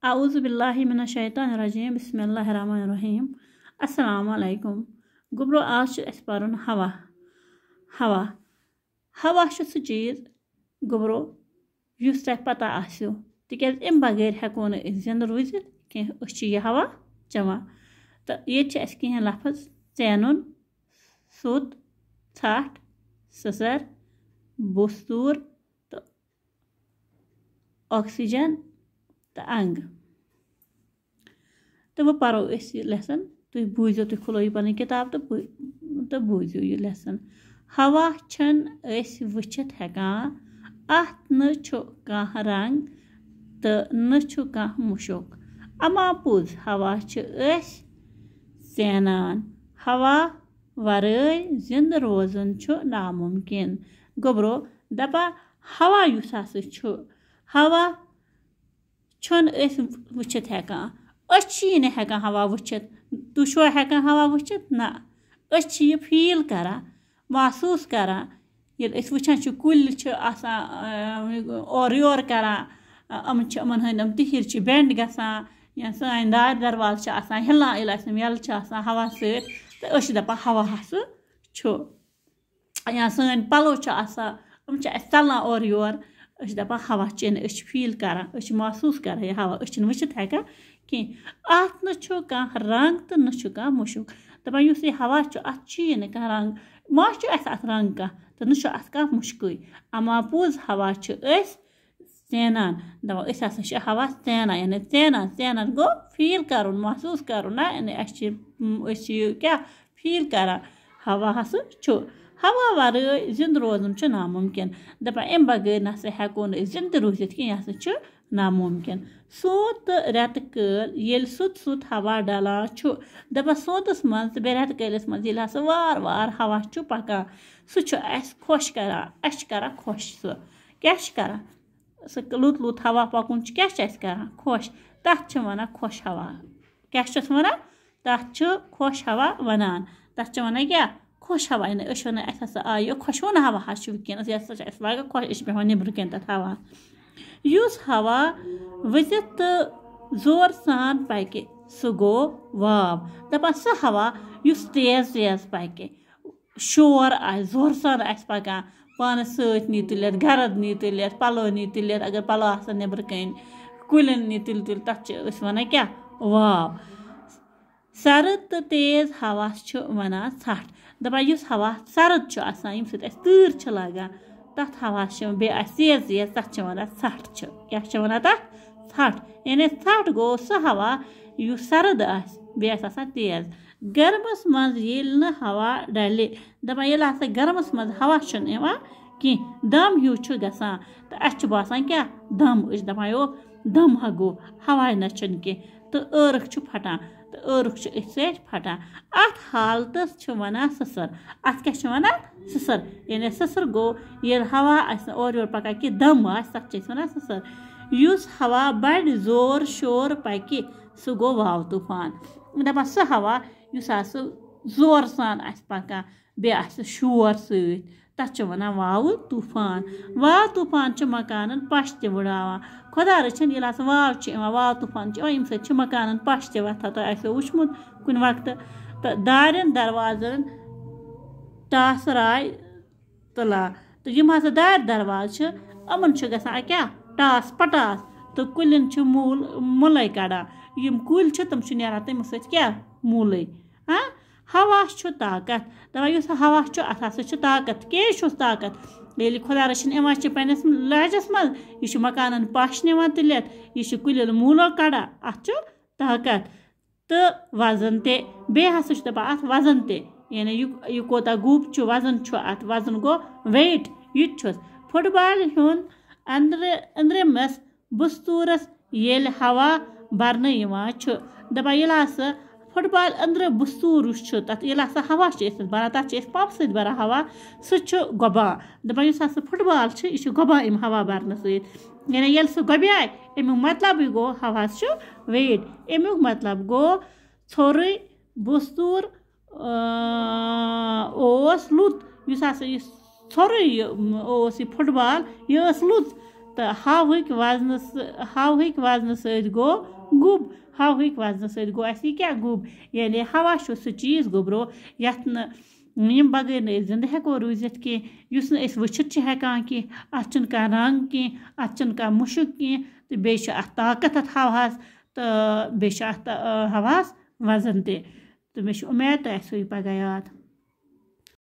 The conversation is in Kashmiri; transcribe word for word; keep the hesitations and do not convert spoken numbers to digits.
اعوذ باللہ من الشیطان الرجیم، بسم اللہ الرحمن الرحیم۔ السلام علیکم۔ گوٚبرو، آز چھُ اَسہِ پَرُن ہوا۔ ہوا۔ ہوا چھُ سُہ چیٖز، گوٚبرو، یُس تۄہہِ پَتہ آسیو، تِکیٛازِ اَمہِ بغٲر ہٮ۪کو نہٕ أسۍ زِندٕ روٗزِتھ کینٛہہ۔ أسۍ چھِ یہِ ہوا چٮ۪وان۔ تہٕ ییٚتہِ چھِ اَسہِ کینٛہہ لفظ: ژینُن، سوٚت، ژھٹھ، سٕسر، بوستوٗر تہٕ آکسیجن تہٕ انگ۔ تہٕ وۄنۍ پرو أسۍ یہِ lesson۔ تُہۍ بوٗزِو، تُہۍ کھُلٲیِو پنٕنۍ کِتاب تہٕ بو-، تہٕ بوٗزِو یہِ lesson۔ ہوا چھِنہٕ أسۍ وٕچھِتھ ہٮ۪کان، اَتھ نہٕ چھُ کانٛہہ رنٛگ تہٕ نہٕ چھُ کانٛہہ مُشُک۔ اما پوٚز، ہوا چھِ أسۍ زینان۔ ہوا ورٲے زِندٕ روزُن چھُ نامُمکِن۔ گوٚبرو، دَپان، ہوا یُس ہسا چھُ، ہوا چھُنہٕ أسۍ وٕچھِتھ ہٮ۪کان۔ أسۍ چھِ یہِ نہٕ ہٮ۪کان ہوا وٕچھِتھ۔ تُہۍ چھُوا ہٮ۪کان ہوا وٕچھِتھ؟ نہ۔ أسۍ چھِ یہِ feel کران، محسوٗس کران۔ ییٚلہِ أسۍ وٕچھان چھِ، کُلۍ چھِ آسان، آ، اورٕ یورٕ کران، آ، یِمَن چھِ، یِمَن ہٕنٛدۍ یِم تِہِرۍ چھِ bend گژھان، یا سٲنۍ دارِ دروازٕ چھِ آسان ہِلان، ییٚلہِ اَسہِ یِم یَلہٕ چھِ آسان ہوا سۭتۍ، تہٕ أسۍ چھِ دَپان، ہوا ہسا چھُ۔ یا سٲنۍ پَلو چھِ آسان، یِم چھِ اَسہِ ژَلان اورٕ یور، أسۍ چھِ دَپان، ہوا چھِ، یعنی أسۍ چھِ feel کران، أسۍ چھِ محسوٗس کران یہِ ہوا، أسۍ چھِنہٕ وٕچھِتھ ہٮ۪کان کینٛہہ۔ اَتھ نہ چھُ کانٛہہ رنٛگ تہٕ نہ چھُ کانٛہہ مُشُک۔ دَپان، یُس یہِ ہوا چھُ، اَتھ چھُ یہِ نہٕ کانٛہہ رنٛگ، ما چھُ اَسہِ اَتھ رنٛگ کانٛہہ، تہٕ نہ چھُ اَتھ کانٛہہ مُشکُے۔ اما پوٚز، ہوا چھِ أسۍ زینان۔ دَپان، أسۍ ہسا چھِ ہوا زینان، یعنی زینان، زینان گوٚو feel کرُن، محسوٗس کرُن، نہ، یعنی اَسہِ چھِ، أسۍ چھِ یہِ کیٛاہ feel کران؟ ہوا ہسا چھُ۔ ہوا ورٲے زِندٕ روزُن چھُ نامُمکِن۔ دَپان، اَمہِ بغٲر نہ سا ہٮ۪کو نہٕ أسۍ زِندٕ روٗزِتھ کینٛہہ، یہِ ہسا چھُ نامُمکِن۔ سونٛت تہٕ رٮ۪تہٕ کٲلۍ، ییٚلہِ سوٚت سوٚت ہوا ڈلان چھُ، دَپان، سونٛتَس منٛز تہٕ بیٚیہِ رٮ۪تہٕ کٲلِس منٛز ییٚلہِ ہسا وارٕ وارٕ ہوا چھُ پکان، سُہ چھُ اَسہِ خۄش کران، اَسہِ چھُ کران خۄش سُہ۔ کیٛاہ چھُ کران؟ سُہ لوٚت لوٚت ہوا پَکُن چھُ، کیٛاہ چھُ اَسہِ کران؟ خۄش۔ تَتھ چھِ وَنان خۄش ہوا۔ کیٛاہ چھِس وَنان؟ تَتھ چھُ خۄش ہوا وَنان۔ تَتھ چھِ وَنان کیٛاہ؟ خۄش ہوا۔ یعنی أسۍ چھِ وَنان، اَسہِ ہسا آیہِ یہِ خۄشوُن ہوا حظ چھُ وٕنکیٚنَس، یہِ ہسا چھُ اَسہِ لَگان خۄش، أسۍ چھِ بیٚہوان نیٚبرٕ کَنۍ تَتھ ہوا۔ یُس ہوا ؤسِتھ تہٕ زورٕ سان پَکہِ، سُہ گوٚو واو۔ دَپان، سُہ ہوا یُس تیز تیز پَکہِ، شور آسہِ، زورٕ سان آسہِ پَکان، پانَس سۭتۍ نی تُلِتھ، گَرَد نی تُلِتھ، پَلو نی تُلِتھ، اگر پَلو آسَن نیٚبرٕ کَنۍ، کُلٮ۪ن نی تُلِتھ تُلِتھ، تَتھ چھِ أسۍ وَنان کیٛاہ؟ واو۔ سرد تہٕ تیز ہوا چھِ وَنان ژھَٹھ۔ دَپان، یُس ہوا سرد چھُ آسان، ییٚمہِ سۭتۍ اَسہِ تۭر چھِ لَگان، تَتھ ہواہَس چھِ، بیٚیہِ آسہِ تیز تیز، تَتھ چھِ وَنان ژھَٹھ چھِ۔ کیٛاہ چھِ وَنان تَتھ؟ ژھَٹھ۔ یعنی ژھَٹھ گوٚو سُہ ہوا یُس سرد آسہِ، بیٚیہِ آسہِ آسان تیز۔ گرمَس منٛز ییٚلہِ نہٕ ہوا ڈَلہِ، دَپان، ییٚلہِ ہسا گرمَس منٛز ہوا چھُنہٕ یِوان کینٛہہ، دَم ہیوٗ چھُ گژھان، تہٕ اَسہِ چھُ باسان کیٛاہ؟ دَم۔ أسۍ چھِ دَپان، یو، دَم ہا گوٚو، ہوا نہ چھُنہٕ کینٛہہ، تہٕ عٲرَق چھُ پھَٹان، تہٕ عٲرَق چھُ أتھۍ سۭتۍ پھَٹان۔ اَتھ حالتَس چھِ وَنان سٕسَر۔ اَتھ کیٛاہ چھِ وَنان؟ سٕسَر۔ یعنی سٕسَر گوٚو، ییٚلہِ ہوا آسہِ نہٕ اورٕ یورٕ پَکان کینٛہہ، دَم آسہِ، تَتھ چھِ أسۍ وَنان سٕسَر۔ یُس ہوا بَڑِ زور شور پَکہِ، سُہ گوٚو واو طوٗفان۔ دَپان، سُہ ہوا یُس ہسا زورٕ سان آسہِ پَکان، بیٚیہِ آسہِ شور سۭتۍ، تَتھ چھِ وَنان واوٕ طوٗفان۔ واو طوٗفان چھُ مکانَن پَش تہِ وٕڑاوان۔ خۄدا رٔچھِن، ییٚلہِ ہسا واو چھِ یِوان، واو طوٗفان چھِ یِوان، ییٚمہِ سۭتۍ چھِ مکانَن پَش تہِ وۄتھان۔ تۄہہِ آسیو وٕچھمُت کُنہِ وقتہٕ۔ تہٕ دارٮ۪ن دروازَن ٹاسہٕ راے تُلان۔ تہٕ یِم ہسا دارِ دروازٕ چھِ، یِمَن چھُ گژھان کیٛاہ؟ ٹاس پٹاس۔ تہٕ کُلٮ۪ن چھُ موٗل مُلَے کَڑان۔ یِم کُلۍ چھِ، تِم چھِ نیران تَمہِ سۭتۍ کیٛاہ؟ موٗلٕے۔ ہاں؟ ہوا چھُ طاقت۔ دَپان، یُس ہوا چھُ، اَتھ ہسا چھُ طاقت۔ کیٛازِ چھُس طاقت؟ ییٚلہِ خۄدا رٔچھِن یِوان چھِ پنٛنِس لہجَس منٛز، یہِ چھُ مکانَن پَش نِوان تُلِتھ، یہِ چھُ کُلٮ۪ن موٗلو کَڑان، اَتھ چھُ طاقت۔ تہٕ وزن تہِ۔ بیٚیہِ ہسا چھُ دَپان اَتھ وزن تہِ، یعنی یہِ، یہِ کوٗتاہ گوٚب چھُ، وزن چھُ اَتھ، وزن گوٚو weight، یہِ تہِ چھُس۔ فُٹ بالہِ ہُنٛد أنٛدرٕ، أنٛدرِمِس بستوٗرس ییٚلہِ ہوا برنہٕ یِوان چھُ، دَپان، ییٚلہِ ہسا فُٹ بال أنٛدرٕ بستوٗر یُس چھُ، تَتھ ییٚلہِ ہسا ہوا چھِ أسۍ تَتھ بران، تَتھ چھِ أسۍ پمپہٕ سۭتۍ بران ہوا، سُہ چھُ گۄبان۔ دَپان، یُس ہسا فُٹ بال چھِ، یہِ چھُ گۄبان اَمہِ ہوا برنہٕ سۭتۍ۔ یعنی ییٚلہِ سُہ گۄبیایہِ، اَمیُک مطلبٕے گوٚو، ہواہَس چھُ weight۔ اَمیُک مطلب گوٚو، ژھورُے بستوٗر، آ، اوس لوٚت۔ یُس ہسا یہِ ژھورُے یہِ اوس، یہِ فُٹ بال، یہِ ٲس لوٚت۔ تہٕ ہاوہٕکۍ وزنہٕ سۭ- ہاوہٕکۍ وزنہٕ سۭتۍ گوٚو گُب۔ ہاوہٕکۍ وزنہٕ سۭتۍ گوٚو اَسہِ یہِ کیٛاہ گُب؟ یعنی ہوا چھُ سُہ چیٖز گوٚبرو یَتھ نہٕ یِم بغٲر نہٕ أسۍ زِندٕ ہٮ۪کو روٗزِتھ کینٛہہ، یُس نہٕ أسۍ وٕچھِتھ چھِ ہٮ۪کان کینٛہہ، اَتھ چھُنہٕ کانٛہہ رنٛگ کینٛہہ، اَتھ چھُنہٕ کانٛہہ مُشُک کینٛہہ، تہٕ بیٚیہِ چھُ اَتھ طاقت اَتھ ہَوہَس، تہٕ بیٚیہِ چھُ اَتھ، آ، ہَوہَس وَزَن تہِ۔ تہٕ مےٚ چھِ اُمید تۄہہِ آسِوٕ یہِ پَگاہ یاد۔